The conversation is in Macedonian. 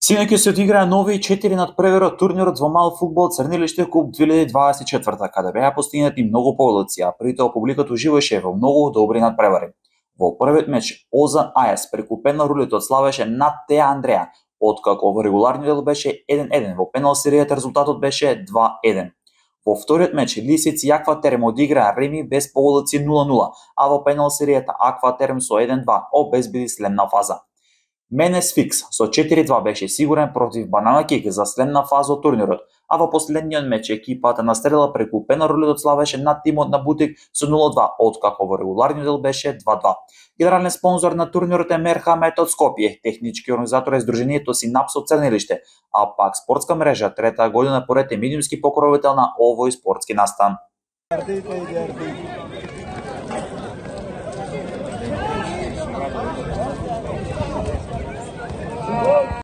Синоќ се одиграа нови 4 надпревари од турнирот во мал фудбал Црнилиште Куп 2024, каде беа постигнати многу победици, а при тоа публиката уживаше во многу добри надпревари. Во првиот меч Озан Ајас преку пенал рулетот славеше над Теа Андреа, откако во регуларниот дел беше 1-1, во пенал серијата резултатот беше 2-1. Во вториот меч Лисици и Акватерм одиграа реми без победици 0-0, а во пенал серијата Акватерм со 1-2 обезбеди следна фаза. Менес Фикс со 4-2 беше сигурен против Банана Кик за следна фаза од турнирот, а во последниот меч екипата настрела преку пенал рулетот славеше над тимот на Бутик со 0-2, откако во регуларниот дел беше 2-2. Генерален спонзор на турнирот е Мерхамет од Скопје, технички организатор е Сдруженијето Синапс од Црнилиште, а пак спортска мрежа трета година поред е медиумски покровител на овој спортски настан.